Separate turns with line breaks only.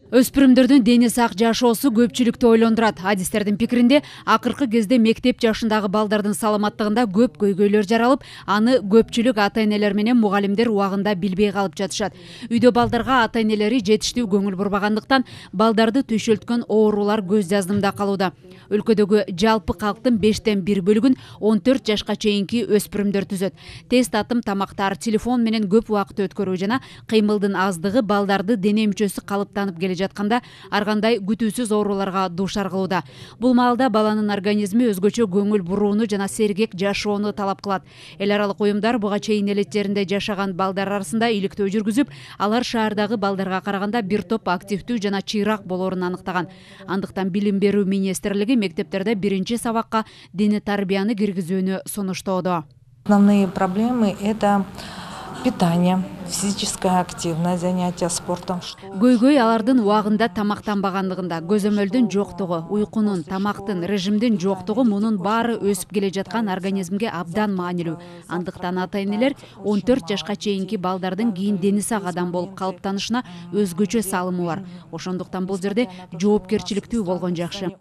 Өспүрүмдөрдүн дени сак жашоосу көпчүлүктү ойлондурат. Адистердин пикиринде, акыркы кезде мектеп жашындагы балдардын саламаттыгында көп көйгөйлөр жаралып, аны көпчүлүк ата-энелер менен мугалимдер убагында билбей калып жатышат. Үйдө балдарга ата-энелери жетиштүү көңүл бурбагандыктан, балдарды түйшөлткөн оорулар көз жаздымда калууда. Өлкөдөгү жалпы калктын 5тен 1 бөлүгүн 14 жашка чейинки өспүрүмдөр түзөт. Тест атым тамактар, телефон менен көп убакыт өткөрүү жана кыймылдын аздыгы балдарды дене мүчөсү калыптанып келе жатканда ар кандай күтүүсүз ооруларга дуушар кылууда. Бул маалда баланын организми өзгөчө көңүл бурууну жана сергек жашоону талап кылат. Эл аралык уюмдар буга чейин элет жеринде жашаган балдар арасында иликтөө жүргүзүп, алар шаардагы балдарга караганда бир топ активдүү жана чыйраак болоорун аныктаган. Андыктан Билим берүү министрлиги мектептерде биринчи сабакка диний тарбияны киргизүүнү сунуштоодо.
Основные проблемы – это питание, физическая активность, занятия спортом.
Көйгөй алардын убагында тамактанбагандыгында, көзөмөлдүн жоктугу, уйкунун, тамактын, режимдин жоктугу мунун баары өсүп келе жаткан организмге абдан маанилүү. Андыктан ата-энелер 14 жашка чейинки балдардын кийин дени сак адам болуп калыптанышына өзгөчө салымы бар. Ошондуктан бул жерде жоопкерчиликтүү болгон жакшы.